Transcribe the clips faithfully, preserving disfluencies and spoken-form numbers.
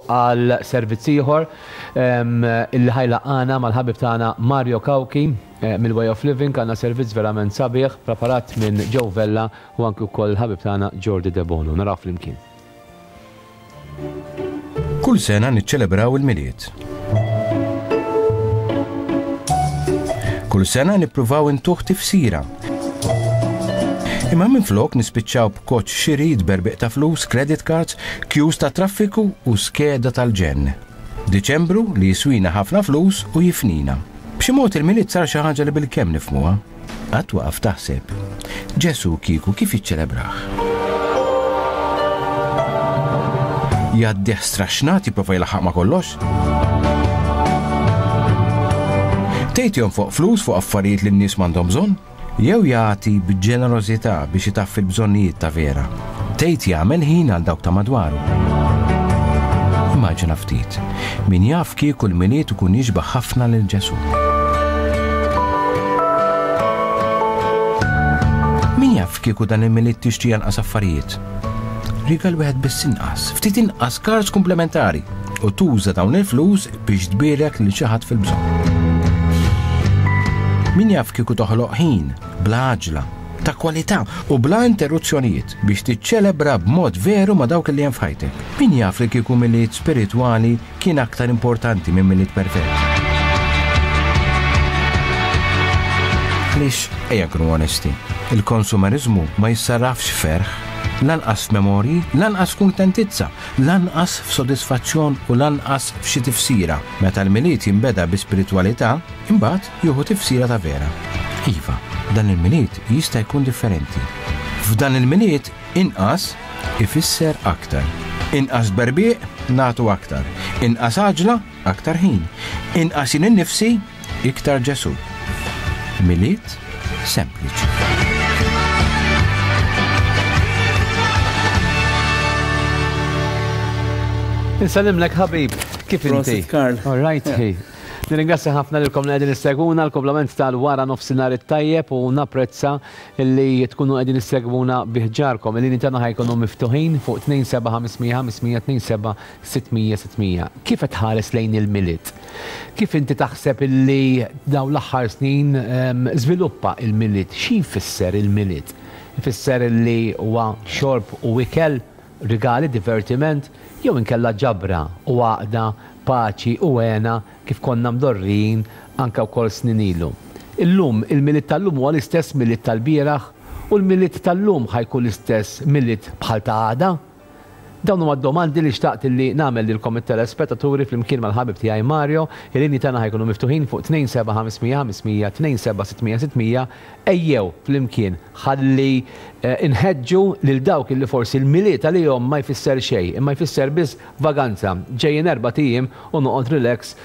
għal servizz ieħor illi ħa jlaqqagħna mal-ħabib tagħna Mario Cauchi mill-Way of Living. Għandna servizz verament sabiħ preparat minn Joe Vella u anki wkoll il-ħabib tagħna Jordi Debono. Naraw flimkien. Kull sena niċċelebraw il-Milied. Kull sena nippruvaw intuh tifsira. Imma minflok nispiċċaw b'koċ xiri, tberbiq ta' flus, credit cards, queues ta' traffiku u skeda tal-ġenn. Diċembru li jiswina ħafna flus u jifnina. B'xi mod il-Milied sar xi ħaġa li bilkemm nifhmuha. Qatt waqaf taħseb. Ġesu kieku kif jiċċelebrah? Jgħaddih straxnat jipprova jlaħħaq ma' kollox? Tgħid jonfoq flus fuq affarijiet li n-nies m'għandhom bżonn? Jew jagħti b'ġenerożità biex itaffi l-bżonnijiet ta' vera? Tgħid jagħmel ħin għal dawk ta' madwaru? Immaġina ftit, min jaf kieku l-Milied ikun jixbah ħafna lil Ġesu. Min jaf kieku dan il-Milied tixtri anqas affarijiet? Rigal wieħed biss inqas, ftit inqas cards komplementari u tuża dawn il-flus biex tbierek lil xi ħadd fil-bżonn. Min jaf kieku toħloq ħin bla għaġla, ta' kwalità u bla interruzzjonijiet biex tiċċelebra b'mod veru ma' dawk li hemm f'ħajtek. Min jaf li kieku Milied spiritwali kien aktar importanti minn Milied perfett. Għaliex, ejja nkunu onesti, il-konsumerizmu ma jissarrafx ferħ, lanqas f'memorji, lanqas f'kuntentizza, lanqas f'sodisfazzjon u lanqas f'xi tifsira. Meta l-Milied jinbeda bi spiritwalità, imbagħad jieħu tifsira ta' vera. Iva, dan il-Milied jista' jkun differenti. F'dan il-Milied inqas ifisser aktar. Inqas berbiq nagħtu aktar. Inqas għaġla aktar ħin. Inqas jien innifsi iktar Ġesu. Milied sempliċi. Insellimlek ħabib, kif inti? Prosit, Karl. All right, hey. Nirringrazzja ħafna lilkom li qegħdin issegwuna l-komplament tal-wara nofsinhar it-tajjeb u napprezza li tkunu qegħdin issegwuna biħġarkom. Il-linji tagħna ħajkunu miftuħin fuq tnejn seba' ħamsmija ħamsmija tnejn seba' sittmija sittmija. Kif qed tħares lejn il-Milied? Kif inti taħseb illi dawn l-aħħar snin żviluppa il-Milied? Xi jfisser il-Milied? Ifisser illi huwa xorb u ikel, rigali, divertiment, jew inkella ġabra u għaqda, paċi u hena kif konna mdorrijin anke wkoll snin ilu. Illum, il-Milied tal-lum huwa l-istess Milied tal-bieraħ u l-Milied tal-lum ħajkun l-istess Milied bħal ta' għada? Dawn huma d-domandi li xtaqt li nagħmel lilkom it-telespettaturi flimkien mal-ħabib tiegħi Mario. Il-linji tagħna ħajkunu miftuħin fuq tnejn seba' ħamsmija ħamsmija tnejn seba' sittmija sittmija. Ejjew flimkien ħalli inħeġġu lil dawk illi forsi l-Milied għalihom ma jfisser xejn, imma jfisser biss vaganza. Ġejjin erba' ijiem u noqgħod relax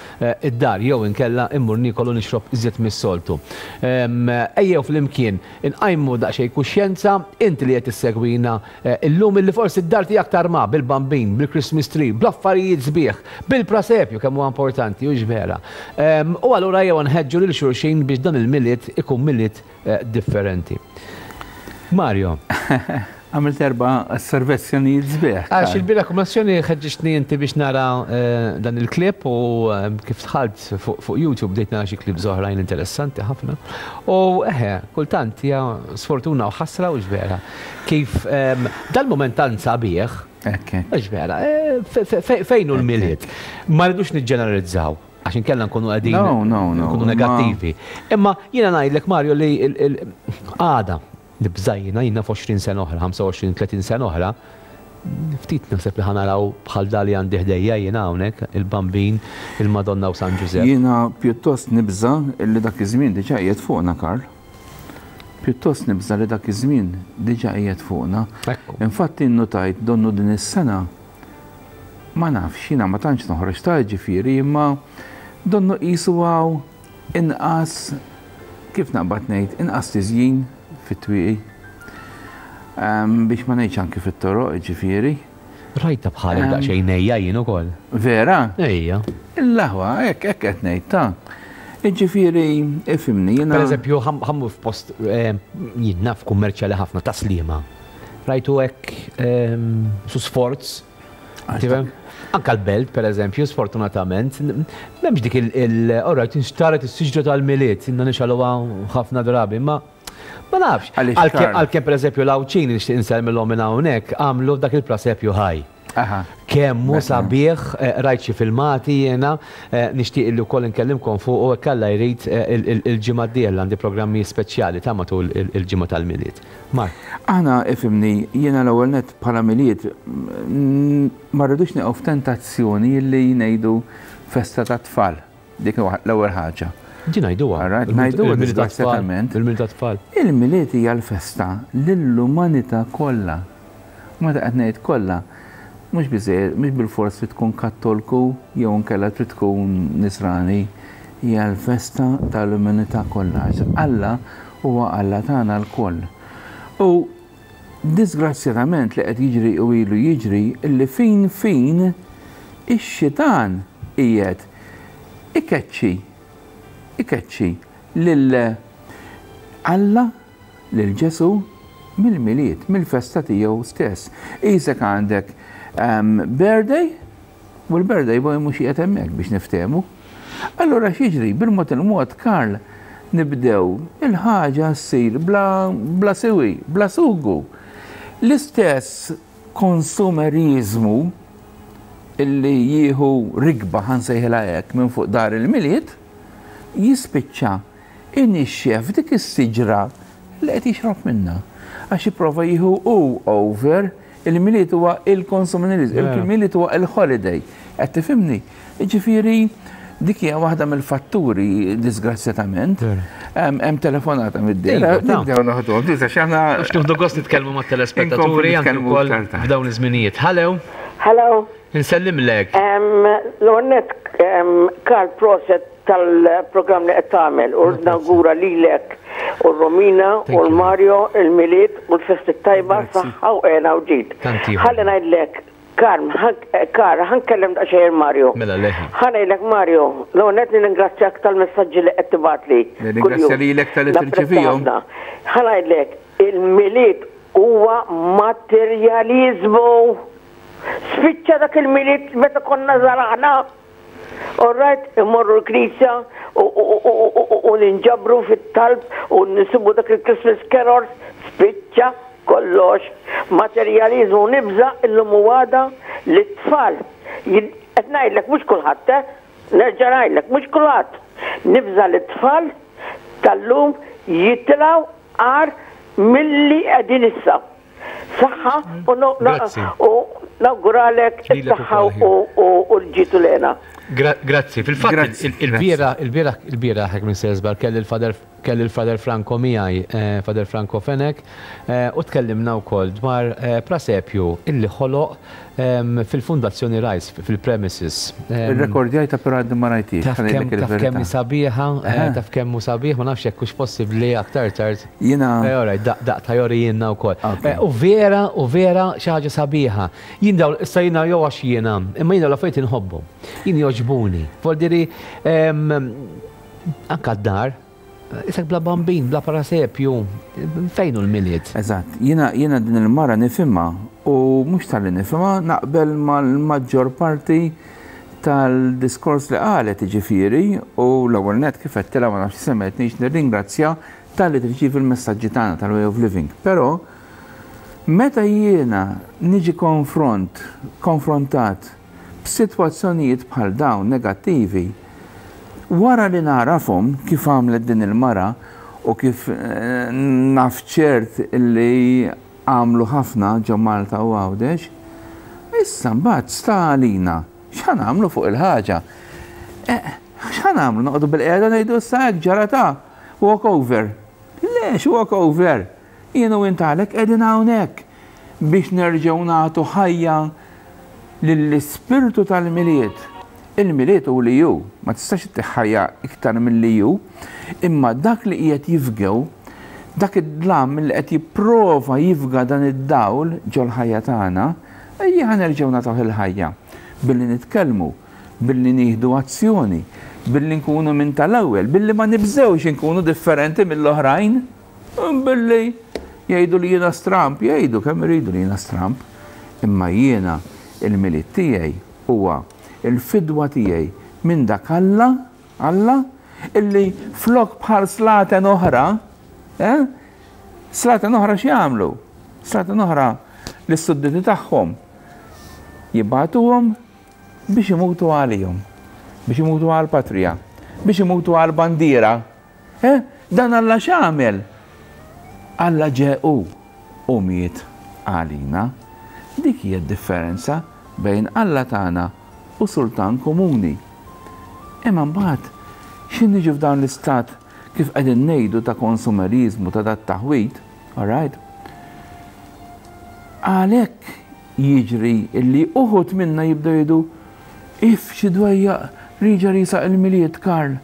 id-dar jew inkella immur niekol u nixrob iżjed mis-soltu. Ejjew flimkien inqajmu daqsxejn kuxjenza, inti li qed issegwina illum illi forsi d-dar tiegħek tarma bil-bambin, bil-Christmas tree, bl-affarijiet sbieħ, bil-prasepju kemm huwa importanti u vera. U allura ejjew nħeġġu lil xulxin biex dan il-Milied ikun Milied differenti. Mario. Għamilt erba' osservazzjonijiet sbieħ. Għax il-bieraħ kummissjoni ħeġġitni inti biex nara dan il-klip u kif dħalt fuq YouTube bdejt nara xi klips oħrajn interessanti ħafna. U eħe, kultant hija sfortuna u ħasra u vera. Kif dal-mument tant sabiħ, għax vera, fejn hu l-Milied? Ma rridux niġġeneralizzaw, għax inkella nkunu qegħdin nkunu negattivi. Imma jiena ngħidlek Mario li għada li bżajjina jiena f'għoxrin sena oħra, ħamsa u għoxrin, tletin sena oħra, ftit naħseb li ħanaraw bħal dali għandi ħdejja jiena hawnhekk, il-Bambin, il-Madonna u San Ġużepp. Jiena pjuttost nibża' li dak iż-żmien diġà qiegħed fuqna, Karl. Pjuttost nibża' li dak iż-żmien diġà qiegħed fuqna. Infatti innutajt donnu din is-sena ma nafx, jiena ma tantx noħroġ ta' ġifieri, imma donnu qisu hawn inqas, kif naqbad ngħid, inqas tiżjin fit-twieqi. Biex ma ngħidx anki fit-toroq, ġifieri. Rajta bħalek daqsxejn nejja jien ukoll. Vera? Ejja. Il-laħwa, hekk hekk qed ngħid ta'. Ġifieri, ifhimni jiena. Pereżempju, ħammu f'post jien naf kummerċjali ħafna ta' Sliema. Rajtu hekk su sforz. Anka l-belt, per eżempju, sfortunatament, m'hemmx dik il-orajt, inxtaret is-siġra tal-Milied, inna nixgħaluha ħafna drabi, ma ma nafx. Għalkemm per eżempju l-Għawdxin nixtieq insellmilhom minn hawnhekk għamlu dak il-prasepju ħaj. Kemm hu sabiħ, rajt xi filmati jiena, nixtieq illi wkoll inkellimkom fuq u hekk Alla jrid il-ġimgħa d-dieħla għandi programmi speċjali ta' matul il-ġimgħa tal-Milied. Mark. Aħna ifhimni, jiena l-ewwel nett bħala Milied ma rridux nieqgħu f'tentazzjoni li ngħidu festa tat-tfal. Dik l-ewwel ħaġa. Ġi ngħiduha. Ngħiduha disgrazzjatament. Il-Milied tat-tfal. Il-Milied hija l-festa lill-umanità kollha. Meta qed ngħid kollha, mhux biżejjed, mhux bilfors trid tkun kattolku jew inkella trid tkun nisrani, hija l-festa tal-umanità kollha. Alla huwa Alla tagħna lkoll. U disgrazzjatament li qed jiġri u ilu jiġri illi fin fin ix-xitan qiegħed ikeċċi ikeċċi lil Alla, lil Ġesu mill-Milied, mill-festa tiegħu stess. Isek għandek birthday, u l-birthday boy mhux qiegħed hemmhekk biex niftehmu. Allura x'jiġri bil-mod il-mod Karl nibdew il-ħaġa ssir bla, bla siwi, bla sugu. L-istess konsumerizmu illi jieħu rigba ħa nsejħilha hekk minn fuq dar il-Milied jispiċċa inixxef dik is-siġra li qed jixrob minnha. Għax jipprova jieħu u over il-Milied huwa il-konsumerizmu, il-Milied huwa il-holiday. Qed tifhimni? Ġifieri dik hija waħda mill-fatturi disgrazzjatament. Hemm telefonata mid-dera. Nibdew naħduhom. Tisa x'aħna Għax nieħdu gost nitkellmu mat-telespettaturi anke wkoll f'dawn iż-żminijiet. Hello. Hello. Insellimlek. L-ewwel nett Karl proset tal-programm li qed tagħmel u nawgura lilek u Romina u l-Mario, il-Milied u l-festi tajba saħħa u hena u ġid. Ħalli ngħidlek Karl, Karl, ħa nkellem daqsxejn Mario. Mela leħi. Ħa ngħidlek Mario, l-ewwel nett nirringrazzjak tal-messaġġi li qed tibgħatli. Nirringrazzja lilek talli tirċevihom. Ħa ngħidlek, il-Milied huwa materjaliżmu. Spiċċa dak il-Milied meta konna żgħar. All right, immorru l-knisja u ninġabru fit-talb u nisibu dak il-Christmas carols, spiċċa kollox. Materjalizmu nibża illum u għada li t-tfal. Qed ngħidlek mhux kulħadd, nerġa' ngħidlek mhux kulħadd. Nibża li t-tfal tal-lum jitilgħu agħar milli qegħdin issa. Saħħa u nawguralek is-saħħa u l-ġid u l-hena. Grazzi. Fil-fatt il-bieraħ il-bieraħ hekk minn Sesbar kelli l-Father kelli l-Father Franco miegħi, Father Franco Fenech, u tkellimna wkoll dwar prasepju illi ħoloq fil-Fundazzjoni Rise fil-premises. Il-rekordjajta però għadni ma rajtix. Taf kemm sabiħa, taf kemm hu sabiħ, ma nafx jekk hux possibbli aktar tard. Jiena. Daqta jori jiena wkoll. U vera, u vera xi ħaġa sabiħa. Jien dawn issa jiena jew għax jiena, imma jiena l-affarijiet inħobbhom. Jien jogħġbuni. Voldiri anka d-dar, Isek bla bambin, bla parasepju, fejn hu l-Milied? Eżatt, jiena jiena din il-mara nifhimha u mhux talli nifhimha naqbel mal-maġġor parti tal-diskors li qalet jiġifieri u l-ewwel nett kif għedtilha ma nafx semgħetnix nirringrazzja talli tirċievi l-messaġġi tagħna tal-Way of Living. Però meta jiena niġi konfront, konfrontat b'sitwazzjonijiet bħal dawn negattivi, wara li narafhom kif għamlet din il-mara u kif naf ċert li għamlu ħafna ġo Malta u Għawdex, issa mbagħad sta għalina x'ħa nagħmlu fuq il-ħaġa. X'ħa nagħmlu? Noqogħdu bil-qiegħda ngħidu issa hekk ġara ta' walk over. Lex walk over? Jien u int għalhekk qegħdin hawnhekk biex nerġgħu nagħtu ħajja lill-ispirtu tal-Milied. Il-Milied hu li hu, ma tistax ittih ħajja iktar milli hu, imma dak li qiegħed jifgew, dak id-dlam li qed jipprova jifga dan id-dawl ġol-ħajja tagħna, ejja ħa nerġgħu nagħtuh il-ħajja billi nitkellmu, billi nieħdu azzjoni, billi nkunu minn tal-ewwel, billi ma nibżewx inkunu differenti mill-oħrajn, billi jgħidu li jiena stramp, jgħidu kemm iridu li jiena stramp, imma jiena il-Milied tiegħi Huwa il-fidwa tiegħi minn dak Alla, Alla illi flok bħal slaten oħra, eh? Slaten oħra x'jagħmlu? Slaten oħra lis-sudditi tagħhom jibgħatuhom biex imutu għalihom, biex imutu għall-patrija, biex imutu għall-bandiera. Eh? Dan Alla x'għamel? Alla ġie hu u miet għalina. Dik hija d-differenza bejn Alla tagħna u sultan komuni. Imma mbagħad x'in niġu f'dan l-istat kif qegħdin ngħidu ta' konsumerizmu ta' dat taħwid, all right? Għalhekk jiġri illi uħud minna jibdew jgħidu if xi dwejjaq riġa risaq il-Milied, Karl.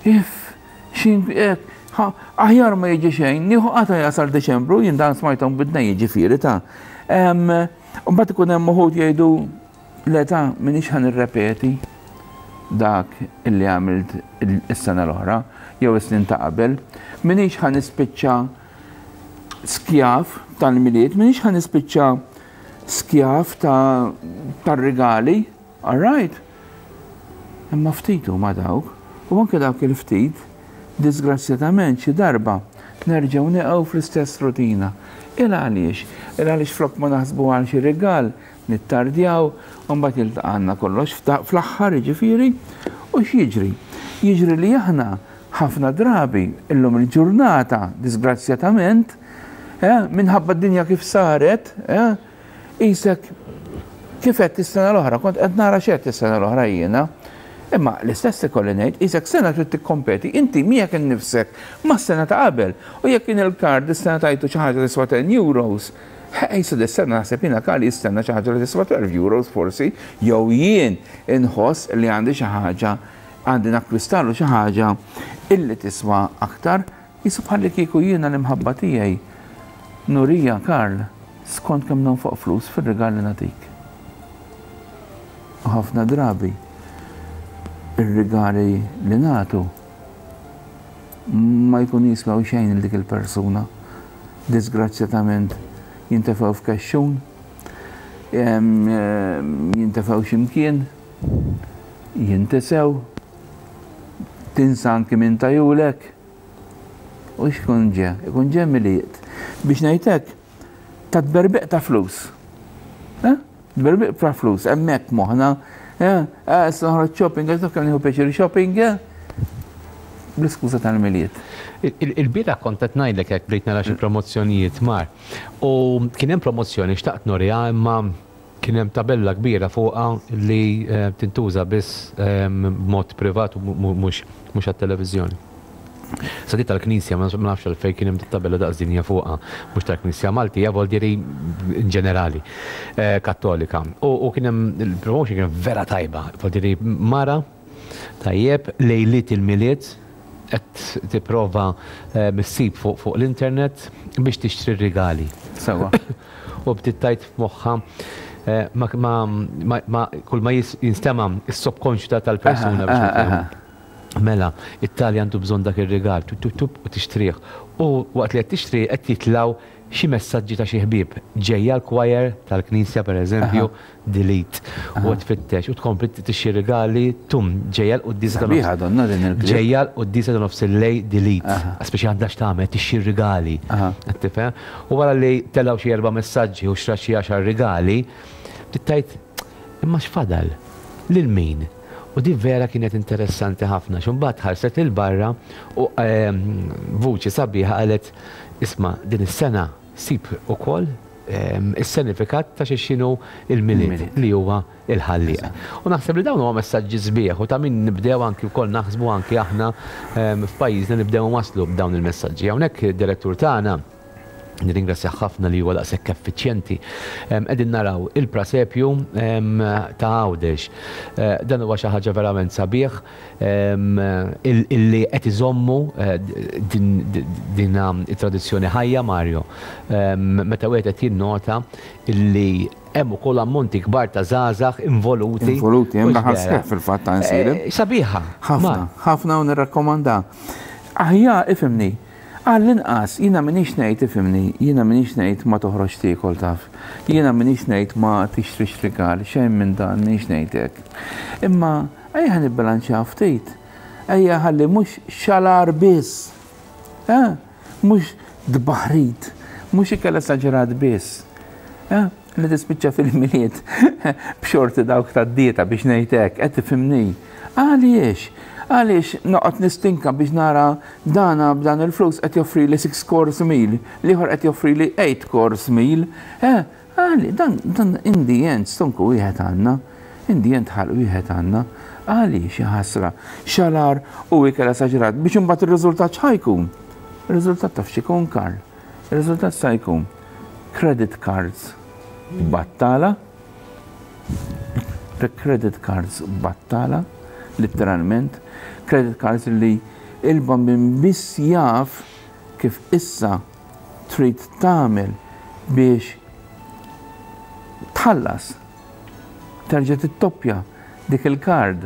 If xi aħjar ma jiġi xejn, nieħu qata jasal Deċembru, jien dan smajthom bidna jiġifieri ta' Mbagħad ikun hemm uħud jgħidu le ta' m'iniex ħa nirrepeti dak illi għamilt is-sena l-oħra jew is-snin ta' qabel, m'iniex ħa nispiċċa skjav tal-Milied, m'iniex ħa nispiċċa skjav tar-rigali, all right? Imma ftit huma dawk, u anke dawk il-ftit, disgrazzjatament xi darba nerġgħu neqgħu fl-istess rutina. Il għaliex? Il għaliex flok ma naħsbu għal xi rigal, nittardjaw, u mbagħad jiltaqgħna kollox fl-aħħar jiġifieri, u x'jiġri? Jiġri li aħna ħafna drabi illum il-ġurnata, disgrazzjatament, eh, minħabba d-dinja kif saret, eh, isek kif qed is-sena l-oħra, kont qed nara x'qed is-sena l-oħra jiena, imma l-istess ikolli ngħid, isek sena trid tikkompeti inti miegħek innifsek mas-sena ta' qabel. U jekk kien il-kard is-sena tajtu xi ħaġa tiswa ten euros, ejsa dis-sena naħseb jiena Karl jistenna xi ħaġa li tiswa twelve euros forsi, jew jien inħoss li għandi xi ħaġa, għandi nakkwistalu xi ħaġa illi tiswa aktar, jisu bħalli kieku jiena l-imħabba tiegħi nurija Karl skont kemm nonfoq flus fir-rigal li nagħtik. U ħafna drabi ir-rigali li nagħtu ma jkun jiswew xejn il dik il-persuna. Disgrazzjatament jintefgħu f'kexxun, jintefgħu x'imkien, jintesew, tinsa anki minn tajulek. U x'ikun ġe? Ikun ġe Milied. Biex ngħidlek, ta' tberbiq ta' flus. Eh? Tberbiq ta' flus, hemmhekk moħħna. Eh, issa noħroġ shopping, għax naf kemm nieħu pjaċir shopping, eh? Bl-iskuża tal-Milied. Il-bieraħ kont qed ngħidlek hekk bdejt nara xi promozzjonijiet mar. U kien hemm promozzjoni xtaqt noriha imma kien hemm tabella kbira fuqha li tintuża biss b'mod privat u mhux għat-televiżjoni. Sa di tal-Knisja, ma nafx għalfejn kien hemm tabella daqs dinja fuqha, mhux tal-Knisja Maltija, vuol dire in ġenerali, Kattolika. U kien hemm il-promotion kien vera tajba, vuol dire mara tajjeb lejliet il-Milied qed tipprova missib fuq l-internet biex tixtri rigali. Sewa. U bdiet tgħid f'moħħha ma kull ma jinstema' is-subconscious tal-persuna biex nifhem. Mela, it-tali għandu bżonn dak ir-rigal, tup tup tup u tixtrih. U waqt li qed tixtri qed jitlgħu xi messaġġi ta' xi ħbieb. Ġejja l-choir tal-Knisja pereżempju, delete. U tfittex u tkompli tixxi rigali, tum, ġejja l-quddiesa ta' Sabiħa donna din il-kliem. Ġejja l-quddiesa ta' nofs il-lejl, delete. Speċi għandha x'tagħmel, tixxi rigali. Qed tifhem? U wara li telgħu xi erba' messaġġi u xra xi għaxar rigali, tittajt imma x'fadal? Lil min? U di vera kienet interessanti ħafna, x'imbagħad ħarset lil barra u vuċi sabiħa qalet isma' din is-sena sib ukoll is-sinifikat ta' xi x'inhu il-Milied li huwa il-ħallieq. U naħseb li dawn huma messaġġi sbieħ u ta' min nibdew anki wkoll naħsbu anki aħna f'pajjiżna nibdew waslu b'dawn il-messaġġi. Hawnhekk id-direttur tagħna nirringrazzja ħafna li huwa daqshekk effiċjenti. Qegħdin naraw il-prasepju ta' Għawdex. Dan huwa xi ħaġa verament sabiħ illi qed iżommu din it-tradizzjoni ħajja, Mario. Meta wieħed qed jinnota illi hemm ukoll ammonti kbar ta' żgħażagħ involuti. Involuti, hemm daħal sħiħ fil-fatt ta' nsir. Sabiħa. Ħafna, ħafna u nirrakkomanda. Aħjar ifhimni. Għall-inqas, jiena m'iniex ngħid, ifhimni, jiena m'iniex ngħid ma toħroġ tiekol taf. Jiena m'iniex ngħid ma tixtrix rigal, xejn minn dan m'iniex ngħid hekk. Imma ejja nibbilanċjaw ftit. Ejja ħalli mhux xalar biss. Eh? Mhux dbaħrit, mhux ikel esaġerat biss. Eh? Li tispiċċa fil-Milied b'xorti dawk tad-dieta biex ngħid hekk, qed tifhimni. Għaliex? Għaliex noqgħod nistinka biex nara dana b'dan il-flus qed joffri li six course meal, l-ieħor qed joffri li eight course meal. Eh, għali, dan, dan in the end stonku wieħed għandna, in the end ħalq wieħed għandna. Għaliex ħasra, xalar u ikel esaġerat biex imbagħad ir-riżultat x'ħa jkun? Ir-riżultat taf x'ikun, Karl? Ir-riżultat sa jkun credit cards battala, credit cards battala, letteralment, credit cards li il-bambin biss jaf kif issa trid tagħmel biex tħallas, terġa' tittoppja dik il-card.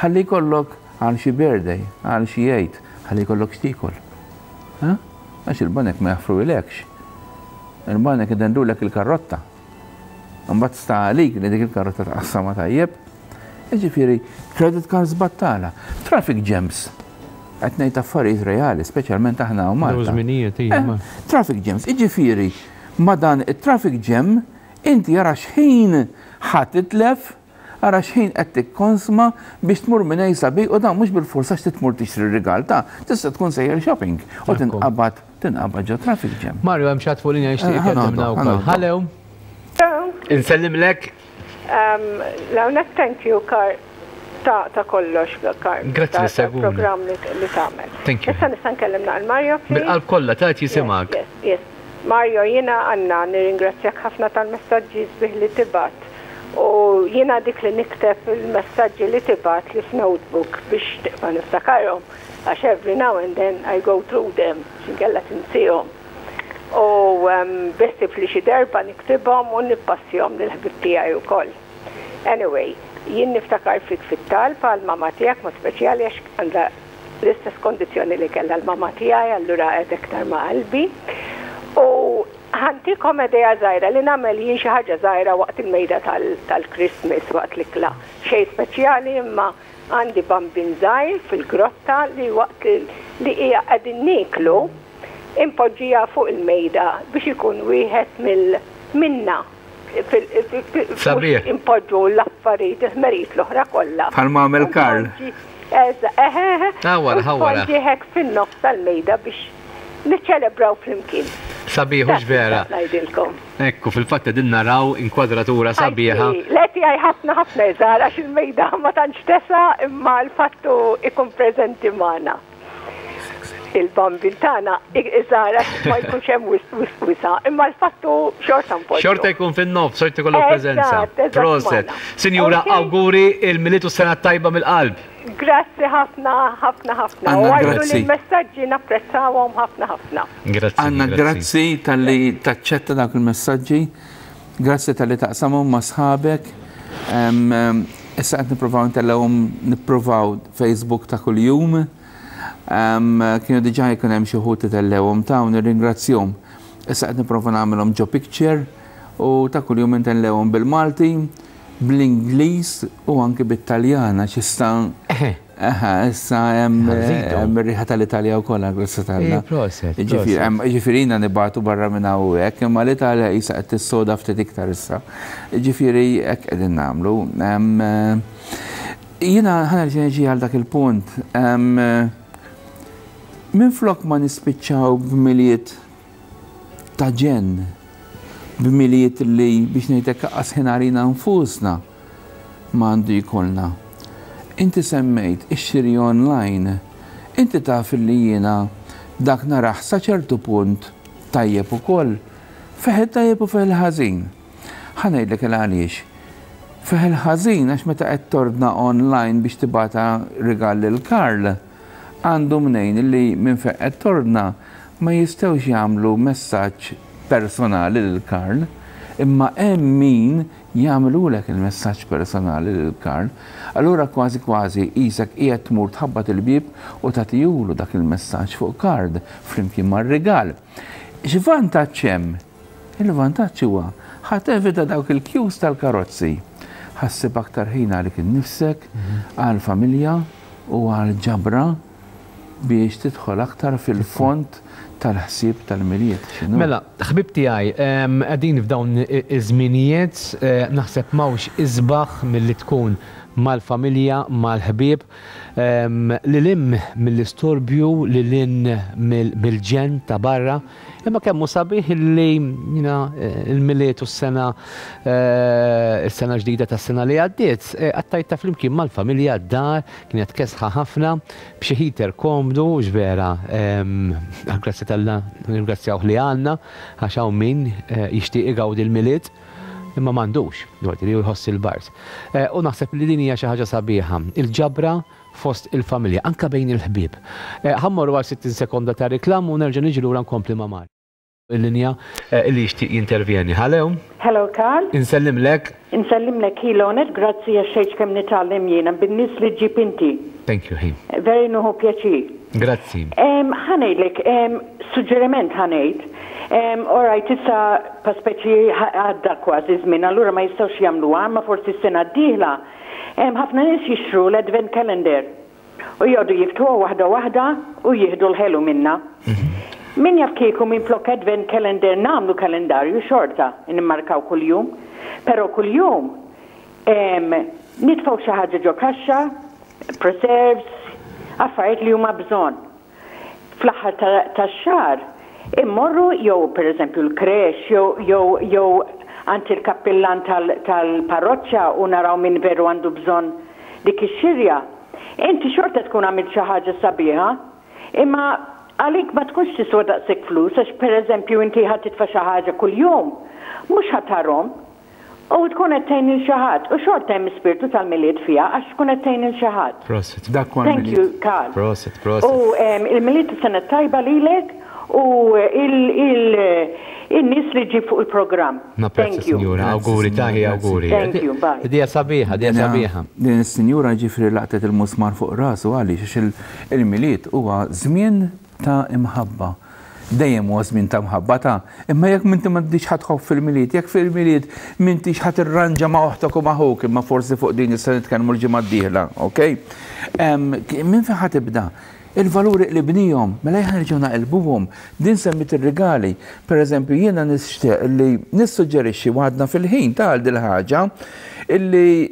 Ħalli jkollok għal xi birthday, għal xi jgħid, ħalli jkollok x'tiekol. Għax il-banek ma jaffruilekx. Il-banek idendulek il-karrotta. Mbagħad sta għalik li dik il-karrotta tqassama tajjeb. Jiġifieri, credit cards battala, traffic jams. Qed ngħid affarijiet reali, speċjalment aħna u Malta. Eh, traffic jams, jiġifieri, ma dan it-traffic jam inti ara x'ħin ħa titlef, ara x'ħin qed tikkonsma biex tmur minn A sa B, u dan mhux bil-forsa x'ti tmur tixtri rigal ta' tista' tkun sejjer shopping u tinqabad tinqabad ġo traffic jam. Mario, hemm xi ħadd fuq linja jixtieq eh, ikellimna wkoll. Hello. Insellimlek. L-għonet, thank you, Karl, ta' ta' kollox, Karl. Grazzi li segwuna. Program li tagħmel. Thank you. Issa nista' nkellimna għal Mario, please? Bil-qalb kollha, ta' jisimgħek. Yes, yes. Mario, jiena għanna nirringrazzjak ħafna tal-messaġġi sbieħ li tibgħat. U jiena dik li nikteb il-messaġġi li tibgħat li f'notebook biex tibqa' niftakarhom. Għax every now and then I go through them, x'inkella tinsihom. U biħsieb li xi darba niktibhom u nippassjahom lill-ħbieb tiegħi wkoll. Anyway, jien niftakar fik fit-talb għal mama tiegħek ma speċjali għax għandha l-istess kondizzjoni li kellha l-mama tiegħi, allura qed iktar ma' qalbi. U ħa ntikom idea żgħira li nagħmel jien xi ħaġa żgħira waqt il-mejda tal-Christmas waqt l-ikla. Xejn speċjali, imma għandi bambin żgħir fil-grotta li waqt li hija qegħdin nieklu impoġġija fuq il-mejda biex ikun wieħed mill-minna. Sabiħ. Impoġġu l-affarijiet, il-ħmerijiet l-oħra kollha. Bħalma għamel Karl. Eħe. Ħawara, ħawara. Poġġi hekk fin-nofs tal-mejda biex niċċelebraw flimkien. Sabiħ, hux vera? Ngħidilkom. Ekku, fil-fatt qegħdin naraw inkwadratura sabiħa. Le, tiegħi ħafna ħafna iżgħar għax il-mejda ma tantx tesa', imma l-fattu ikun preżenti magħna. Il-bambin tagħna iżgħar ma jkunx hemm wisa, imma l-fattu xorta npoġġu. Xorta jkun fin-nofs, xorta jkollu preżenza. Proset. Sinjura, auguri il-Milied u sena tajba mill-qalb. Grazzi ħafna, ħafna, ħafna. U għajdu li l-messaġġi napprezzawhom ħafna, ħafna. Grazzi. Anna, grazzi talli taċċetta dak il-messaġġi. Grazzi talli taqsamhom ma' sħabek. Issa qed nippruvaw ntellgħuhom, nippruvaw Facebook ta' kuljum. Kienu diġà jkun hemm xi wħud titellewhom ta' u nirringrazzjahom. Issa qed nipprova nagħmilhom ġo picture u ta' kuljum intellewhom bil-Malti, bl-Ingliż u anki bit-Taljana x'issa. Aha, issa hemm ir-riħa tal-Italja wkoll, grazzi t'Alla. Ġifieri jiena nibagħtu barra minn hawnhekk, imma l-Italja qisha qed tissoda ftit iktar issa. Ġifieri hekk qegħdin nagħmlu. Jiena ħa nerġa' niġi għal dak il-punt. Minflok ma nispiċċaw b'Milied ta' ġenn, b'Milied li biex ngħidlek qas ħin għalina nfusna ma għandu jkollna. Inti semmejt ix-xiri online, inti taf li jiena dak naraħ sa ċertu punt tajjeb ukoll, fih tajjeb u fih il-ħażin. Ħa ngħidlek il għaliex. Fih il-ħażin għax meta qed tordna online biex tibgħata rigal lil Karl, għandu mnejn li minn fejn qed tordna ma jistgħux jagħmlu messaġġ personali lil Karl, imma hemm min Jagħmlulek il-messaġġ personali lil Karl, allura kważi kważi qisek qiegħed tmur tħabbat il-bieb u tagħtihulu dak il-messaġġ fuq card flimkien mar-rigal. X'vantaġġ hemm? Il-vantaġġ huwa ħa tevita dawk il-queues tal-karozzi. Ħa ssib aktar ħin għalik innifsek, għall-familja u għall-ġabra biex tidħol aktar fil-fond tal-ħsieb tal-Milied. Mela, ħbib tiegħi, qegħdin f'dawn iż-żminijiet, naħseb m'hawnx isbaħ milli tkun mal-familja, mal-ħbieb, lil hinn mill-istorbju, lil hinn mill-ġenn ta' barra, imma kemm hu sabiħ li il-Milied u s-sena is-sena ġdida tas-sena li għaddiet, qattajtha flimkien mal-familja d-dar, kienet kesħa ħafna, b'xi heater komdu, x'vera, grazzi t'Alla nirringrazzjawh li għandna, għax hawn min jixtieq igawdi l-Milied imma m'għandux, li jħoss il-bard. U naħseb li din hija xi ħaġa sabiħa, il-ġabra fost il-familja, anka bejn il-ħbieb. Ħa mmorru għal sittin sekonda ta' reklam u nerġa' niġi lura nkompli ma' Mario. Il-linja li jixtieq jintervjeni. Hello. Hello, Karl. Insellimlek. Insellimlek Hilonet, grazzi għax xejn kemm nitgħallem jiena bin-nies li ġġib inti. Thank you, ħin. Very nieħu pjaċir. Grazzi. Ħa ngħidlek, suġġeriment ħa ngħid. All right, issa pa speċi għadda kważi żmien, allura ma jistgħux jagħmluha, ma forsi s-sena d-dieħla. Ħafna nies jixtru l-advent calendar u jgħodu jiftħuha waħda waħda u jieħdu l-ħelu minna. Min jaf kieku minn flok advent calendar nagħmlu kalendarju xorta, nimmarkaw kuljum, però kuljum nitfgħu xi ħaġa ġo kaxxa, preserves, affarijiet li huma bżonn. Fl-aħħar tax-xahar immorru jew pereżempju l-creche jew jew jew għand il-kappillan tal-parroċċa u naraw min veru għandu bżonn dik ix-xirja. Inti xorta tkun għamilt xi ħaġa sabiħa, imma għalik ma tkunx tiswa daqshekk flus għax pereżempju inti ħa titfa' xi ħaġa kuljum, mhux ħa tarhom. U tkun qed tgħin lil xi ħadd u xorta hemm ispirtu tal-Milied fiha għax tkun qed tgħin lil xi ħadd. Prosit. Dak huwa Thank you, Karl. Prosit, prosit. U il-Milied is-sena tajba lilek u il-nies li ġib fuq il-programm. Napprezza, sinjura. Awguri, taħi, awguri. Thank you, bye. Idea sabiħa, idea sabiħa. Din is-sinjura ġifri laqtet il-musmar fuq rasu għaliex għax il-Milied huwa żmien ta' imħabba. Dejjem huwa żmien ta' mħabba ta' imma jekk minti m'għandix ħadd tħobb fil-Milied, jekk fil-Milied m'intix ħadd irranġa ma' oħtok u ma' ħuk, imma forsi fuq din issa nitkellmu l-ġimgħa d-dieħla, okej? Minn fejn ħa tibda? Il-valuri li bnihom, mela jħan nerġgħu naqilbuhom, din semmit ir-rigali. Per eżempju, jiena nixtieq li nissuġġerixxi waħdna fil-ħin ta' dil ħaġa illi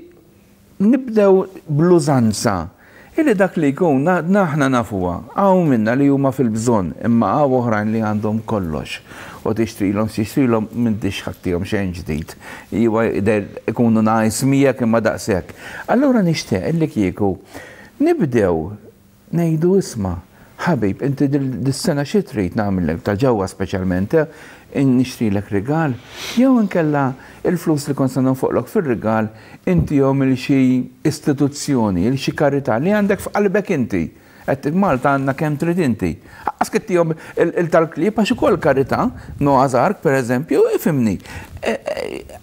nibdew bl-użanza. Illi dak li jkun naħna nafuha, hawn minna li huma fil-bżonn, imma hawn oħrajn li għandhom kollox. U tixtrilhom, tixtrilhom m'intix ħattihom xejn ġdid. Iwa ikunu nice miegħek imma daqshekk. Allura nixtieq illi kieku nibdew ngħidu isma', ħabib, inti dis-sena xi trid nagħmellek ta' ġewwa speċjalment, nixtrilek rigal, jew inkella il-flus li kont se nonfoqlok fir-rigal intihom il xi istituzzjoni, il xi karità li għandek f'qalbek inti. Qed Malta għandna kemm trid inti. Aqqas kittihom il-tal-klieb għax ukoll karità, Noah's Ark pereżempju, ifhimni.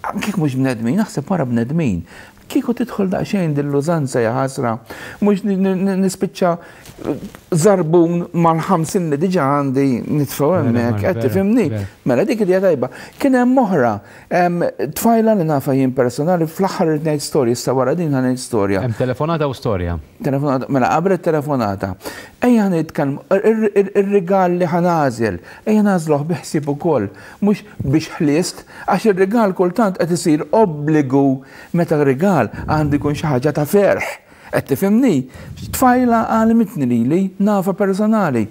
Anke mhux bnedmin, naħseb wara bnedmin. Kieku tidħol daqsxejn din l-użanza ja ħasra, mhux nispiċċa żarbun mal-ħamsin li diġà għandi nitfgħu hemmhekk, qed tifhimni. Mela dik idea tajba. Kien hemm oħra, tfajla li nafa jien personali fl-aħħar irid ngħid storja, issa wara din ħa ngħid storja. Hemm telefonata u storja. Telefonata, mela qabel it-telefonata. Ejja nitkellmu ir-rigal li ħa nagħżel, ejja nagħżluh bi ħsieb ukoll, mhux biex ħliest, għax ir-rigal kultant qed isir obbligu meta rigal għandu jkun xi ħaġa ta' ferħ. Qed tifhimni? Tfajla għalmitni lili nafa personali.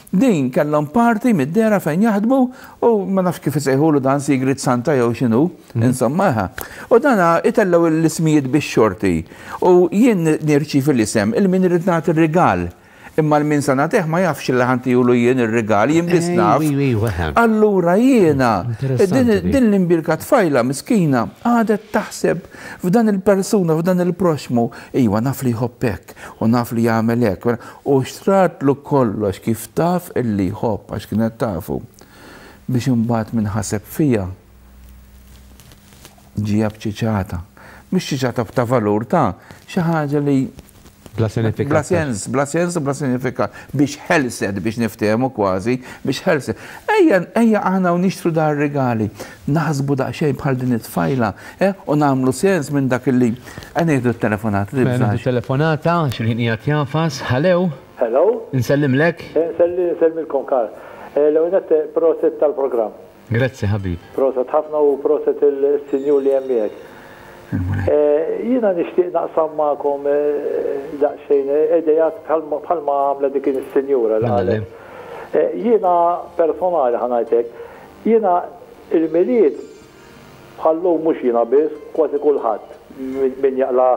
Din kellhom parti mid-dera fejn jaħdmu u ma nafx kif isejħulu dan Secret Santa jew x'inhu, insomma. U dana itellgħu l-ismijiet bix-xorti. U jien nirċievi l-isem il-min irid nagħti r-rigal. Imma l-min sa nagħtih ma jafx li ħantihulu jien ir-rigal, jien biss naf. Allura jiena, din l-imbirka tfajla miskina għadet taħseb f'dan il-persuna, f'dan il-proxmu, iwa naf li jħobb hekk u naf li jagħmel hekk. U xtratlu kollox kif taf illi jħobb għax kienet tafu. Biex imbagħad min ħaseb fija Ġija b'ċiċata. Mhux ċiċata ta' valur ta' xi ħaġa li bla sinifikat. Bla sens, bla sens u bla sinifikat. Biex ħelset, biex niftehmu kważi, biex ħelset. Ejja, ejja aħna u nixtru dar regali. Naħsbu daqsxejn bħal din it-tfajla, eh, u nagħmlu sens minn dak li nieħdu t-telefonata. Mela, telefonata, xil-ħin qiegħed jafas. Hello. Hello. Nsellimlek. Nsellimilkom, Karl. L-ewwel nett prosit tal-programm. Grazzi, ħabib. Prosit ħafna u prosit il-sinjur li hemm miegħek. Jiena nixtieq naqsam magħkom daqsxejn idejat bħalma għamla dik is-sinjura li qalet. Jiena personali ħa ngħidlek, jiena il-Milied bħallum mhux jiena biss, kważi kulħadd min jaqla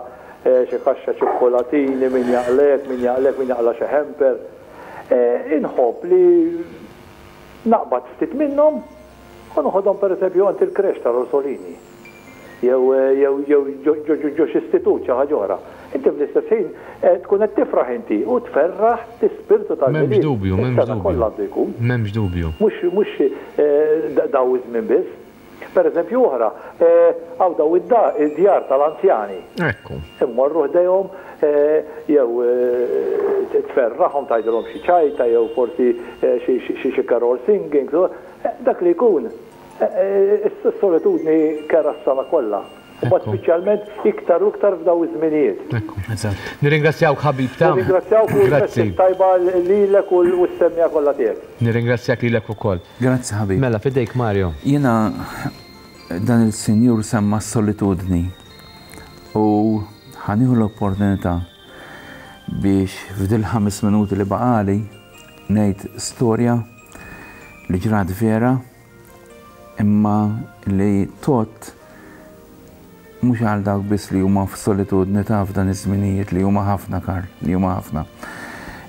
xi kaxxa ċikkolatini, min jaqlek, min jaqlek, min jaqla xi hamper. Inħobb li naqbad ftit minnhom u noħodhom pereżempju għand il-krex tal-Orsolini. Jew jew jew ġo xi istitut xi ħaġa oħra. Inti fl-istess ħin tkun qed tifraħ inti u tferraħ l-ispirtu tal-Milied. M'hemmx dubju, m'hemmx dubju. Kollha għandu jkun. M'hemmx dubju. Mhux mhux daw iż-żmien biss. Per eżempju oħra, hawn daw id-djar tal-anzjani. Ekku. Immorru ħdejhom jew tferraħhom tgħidilhom xi ċajta jew forsi xi carol singing, dak li jkun. Is-solitudni kera s-sena kollha. U speċjalment iktar u iktar f'daw iż-żminijiet. Nirringrazzjawk ħabib ta' Nirringrazzjawk u Grazzi. tajba lilek u s-semmija kollha tiegħek. Nirringrazzjak lilek ukoll. Grazzi ħabib. Mela fidejk Mario. Jiena dan il-sinjur semma s-solitudni u ħanieħu l-opportunità biex f'dil ħames minuti li baqali ngħid storja li ġrat vera imma li tot mhux għal dawk biss li huma f'solitudni ta' f'dan iż-żminijiet li huma ħafna, Karl, li huma ħafna.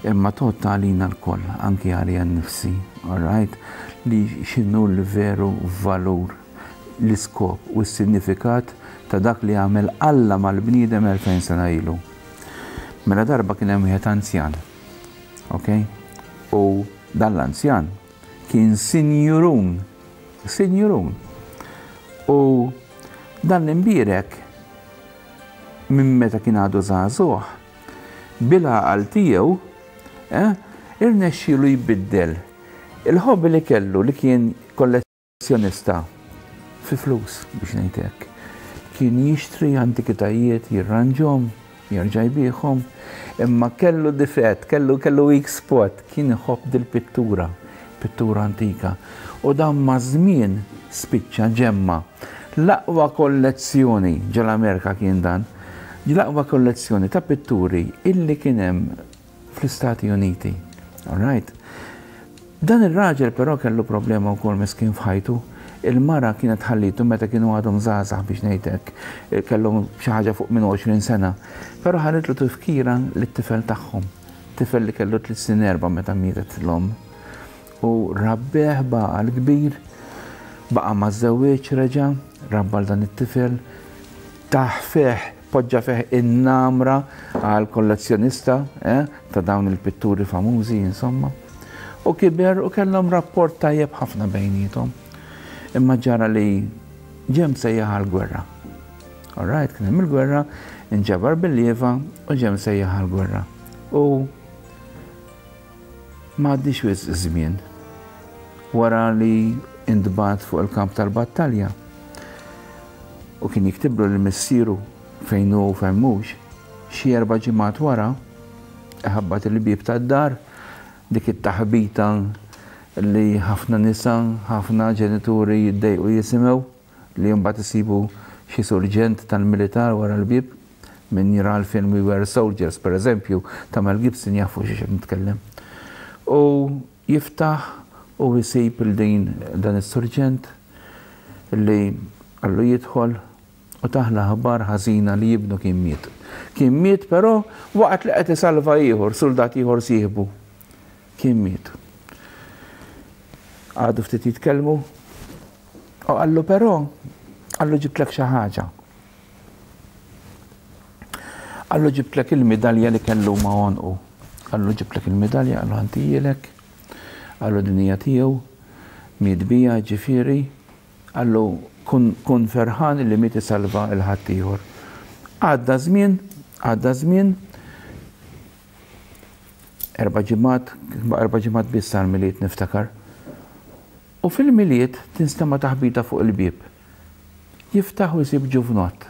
Imma tot għalina lkoll, anki għalija nnifsi, all right, li x'inhu l-veru valur, l-iskop u s-sinifikat ta' dak li għamel Alla mal-bniedem elfejn sena ilu. Mela darba kien hemm wieħed anzjan, ok? U dan l-anzjan kien sinjurun, sinjurun. U dan l-imbierek minn meta kien għadu żagħżugħ, bil-għaqal tiegħu, eh, irnexxielu jbiddel il-ħobbi li kellu li kien kollezzjonista fi flus biex ngħid hekk. Kien jixtri antikitajiet, jirranġhom, jerġa' jbigħhom, imma kellu difett, kellu, kellu weak spot, kien iħobb dil-pittura, pittura antika. U dan ma' żmien spiċċa ġemma. L-aqwa kollezzjoni ġol-Amerika kien dan, l-aqwa kollezzjoni ta' pitturi illi kien hemm fl-Istati Uniti. All right. Dan ir-raġel però kellu problema wkoll miskin f'ħajtu. Il-mara kienet ħallitu meta kienu għadhom żgħażagħ biex ngħidlek, kellhom xi ħaġa fuq minn għoxrin sena. Però ħallitlu tifkira lit-tifel tagħhom, tifel li kellu tliet snin erba' meta mietet l-omm. U rabbeh baqa' l-kbir, baqa' ma żewwieġ reġa', rabba l dan it-tifel, taħ fih, poġġa fih in-namra għal kollezzjonista, eh, ta' dawn il-pitturi famużi, insomma. U kiber u kellhom rapport tajjeb ħafna bejniethom. Imma ġara li ġem sejjaħ għall-gwerra. All right, kien hemm il-gwerra, inġabar bil-lieva u ġem sejjaħ għall-gwerra. U ma għaddix wisq żmien wara li intbagħat fuq il-kamp tal-battalja. U kien jiktiblu lil missieru fejn hu u fejn mhux, xi erba' ġimgħat wara, iħabbat il-bieb tad-dar, dik it-taħbita li ħafna nisa, ħafna ġenituri jiddejqu jisimgħu, li mbagħad isibu xi surġent tal-militar wara l-bieb, min jara l-film We Were Soldiers, per eżempju, ta' Mel Gibson jafu xi xejn nitkellem. U jiftaħ u jsib il din dan is-surġent li qallu jidħol u taħla ħabar ħażina li jibnu kien miet. Kien miet però waqt li qed isalva ieħor, soldat ieħor sieħbu. Kien miet. Għadu ftit jitkellmu u qallu però, qallu ġibtlek xi ħaġa. Qallu ġibtlek il-midalja li kellu ma' għonqu. Qallu ġibtlek il-midalja, qallu ħantijilek, qallu din hija tiegħu, miet bija ġifieri, qallu Kun, kun ferħan li miet isalva il-ħaddieħor. Għadda żmien, għadda żmien, erba' ġimgħat, erba' ġimgħat biss għall-Milied niftakar. U fil-Milied tinstema' taħbita fuq il-bieb. Jiftaħ u jsib ġuvnott.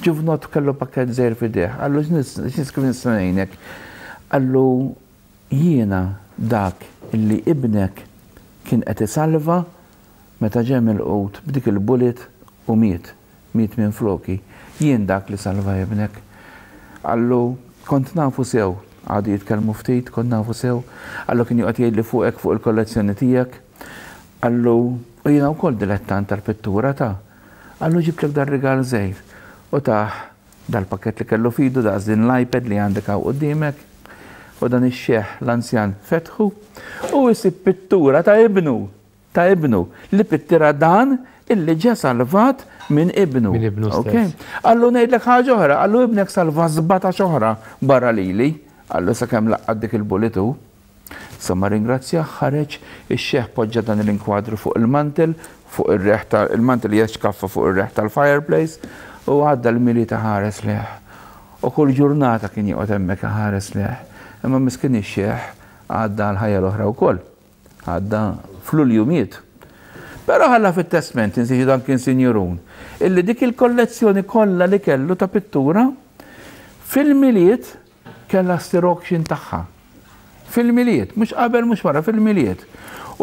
Ġuvnott kellu pakkett żgħir f'idejh. Qallu x'nis kif nista' ngħinek? Qallu jiena dak illi ibnek kien qed isalva meta ġie milqut b'dik il-bullet u miet, miet minn floki. Jien dak li salva ibnek. Qallu kont nafu sew, għadu jitkellmu ftit, kont nafu sew. Qallu kien joqgħod jgħidli fuqek fuq il-kollezzjoni tiegħek. Qallu u jiena wkoll dilettant tal-pittura ta'. Qallu ġibtlek dar-rigal żgħir. U tah dal-pakket li kellu fidu daqs din l-iPad li għandek hawn quddiemek. U dan ix-xeħ l-anzjan fetħu u jsib pittura ta' ibnu, ta' ibnu li pittira dan illi ġa salvat minn ibnu. Minn ibnu Ok? stess. Qallu ngħidlek ħaġa oħra, qallu ibnek salva sbatax oħra barra lili, qallu sakemm laqqat dik il-bullet hu. Insomma ringrazzjah, ħareġ ix-xeħ poġġa dan l-inkwadru fuq il-mantel, fuq ir-reħ tal il-mantel hija xkaffa fuq ir-reħ tal-fireplace u għadda l-Milied ħares lejh. U kull ġurnata kien joqgħod hemmhekk ħares lejh. Imma miskin ix-xeħ għadda l-ħajja l-oħra wkoll. Għadda f'Lulju miet. Però ħalla fit-testament, insiġi dan kien sinjurun, illi dik il-kollezzjoni kollha li kellu ta' pittura fil-Milied kellha ssir auction tagħha. Fil-Milied, mhux qabel mhux wara, fil-Milied.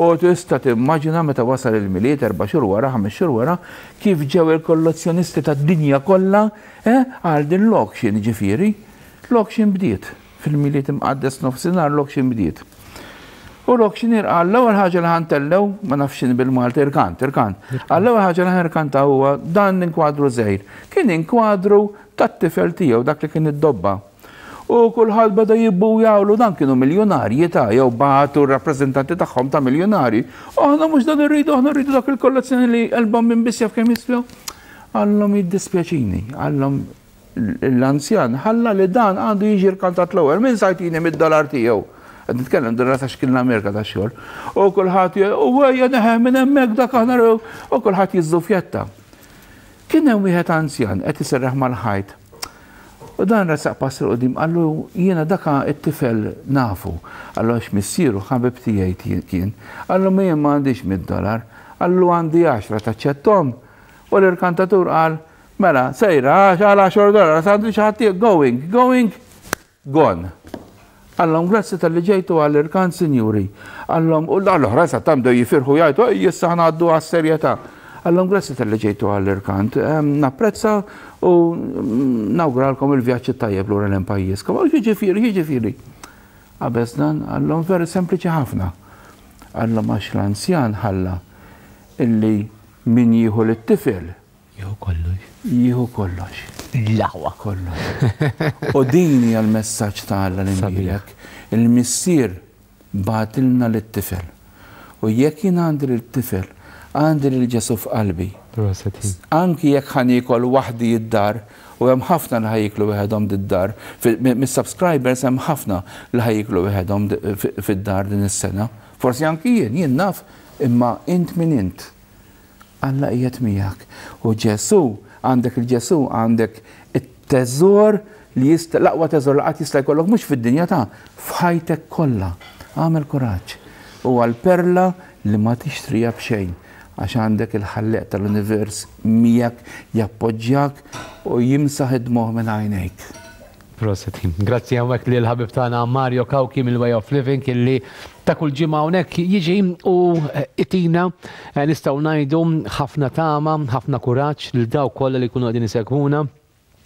U tista' timmaġina meta wasal il-Milied erba' xhur wara, ħames xhur wara, kif ġew il-kollezzjonisti tad-dinja kollha eh, għal din l-auction ġifieri. L-auction bdiet. Fil-Milied imqaddes nofsinhar l-auction bdiet. U l-auctioneer qal l-ewwel ħaġa li ħa ntellgħu, ma nafx x'inhi bil-Malti, irkant, irkant. Qal l-ewwel ħaġa li ħa nirkanta huwa dan inkwadru żgħir. Kien inkwadru tat-tifel tiegħu dak li kien id-dobba. U kulħadd beda jibbu jawlu dan kienu miljonarji ta' jew bagħtu r-rappreżentanti tagħhom ta' miljonarji. Aħna mhux dan irridu, aħna rridu dak il-kollezzjoni li qalbhom minn biss jaf kemm jiswew. Qallhom jiddispjaċini, qallhom l-anzjan ħalla li dan għandu jiġi rkantat l-ewwel minn sa jtini mid-dolar tiegħu. Qed nitkellem dolar ta' xkien l-Amerika ta' xogħol. U kulħadd u ejja neħe minn hemmhekk dak aħna u kulħadd jiżżufjetta. Kien hemm wieħed anzjan qed iserraħ mal-ħajt. U dan resaq pass 'il quddiem qallu jiena daka it-tifel nafu. Qallu għax missieru ħabib tiegħi kien. Qallu ma jien ma għandix mid-dolar. Qallu għandi għaxra taċċettom. U l-irkantatur qal mela sejra għal għaxar dolar, għandi xi ħadd going, going, gone. Qallhom grazzi talli ġejtu għall-irkant, sinjuri. Qallhom, u l-oħra sa tamdew jifirħu jgħidu, ej issa ħa ngħaddu għas-serjetà. Qallhom grazzi talli ġejtu għall-irkant, napprezza u nawguralkom il-vjaġġ tajjeb lura lejn pajjiżkom. Għal jiġifieri, jiġifieri. Qabeż dan, qallhom veru sempliċi ħafna. Qallhom għax l-anzjan ħalla illi min jieħu lit-tifel. Jieħu kollox. Jieħu kollox. L-aħwa. Kollox. U din hija l-messaġġ ta' Alla li nbierek. Il-missier bagħtilna lit-tifel. U jekk jien għandi lit-tifel, għandi lil Ġesu f'qalbi. Proset. Anki jekk ħa niekol waħdi id-dar, u hemm ħafna li ħa jieklu weħedhom id-dar, mis-subscribers hemm ħafna li ħa jieklu weħedhom fid-dar din is-sena. Forsi anki jien, jien naf, imma int min int. Alla qiegħed miegħek. U Ġesu, għandek il-Ġesu, għandek it-teżor li jista' l-aqwa teżor li qatt jista' jkollok mhux fid-dinja ta' f'ħajtek kollha. Agħmel kuraġġ. U għal-perla li ma tixtrija b'xejn għax għandek il-ħalleq tal-univers miegħek jappoġġjak u jimsaħ id-dmugħ minn għajnejk. Proset. Grazzi hawnhekk li l-ħabib tagħna Mario Cauchi mill-Way of Living illi ta' kull ġimgħa hawnhekk jiġi u itina nistgħu ngħidu ħafna tama, ħafna kuraġġ lil dawk kollha li jkunu qegħdin isegwuna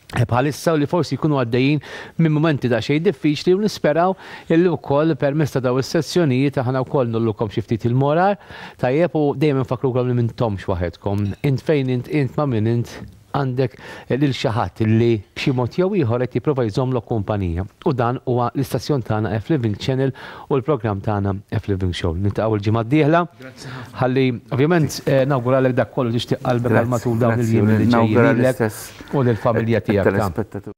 bħalissa u li forsi jkunu għaddejjin minn momenti da xejn diffiċli u nisperaw illi wkoll permezz ta' daw is-sessjonijiet aħna wkoll nollukom xi ftit il-moral tajjeb u dejjem nfakkrukom li m'intomx waħedkom. Int fejn int int ma' min int għandek lil xi ħadd li b'xi mod jew ieħor qed jipprova jżommlok kumpanija. U dan huwa l-istazzjon tagħna F Living Channel u l-programm tagħna F Living Show. Niltaqgħu l-ġimgħa d-dieħla. Ħalli ovvjament nawguralek dak kollu tixtieq qalbek għal matul dawn il-jiem li ġejjin lilek u lill-familja tiegħek.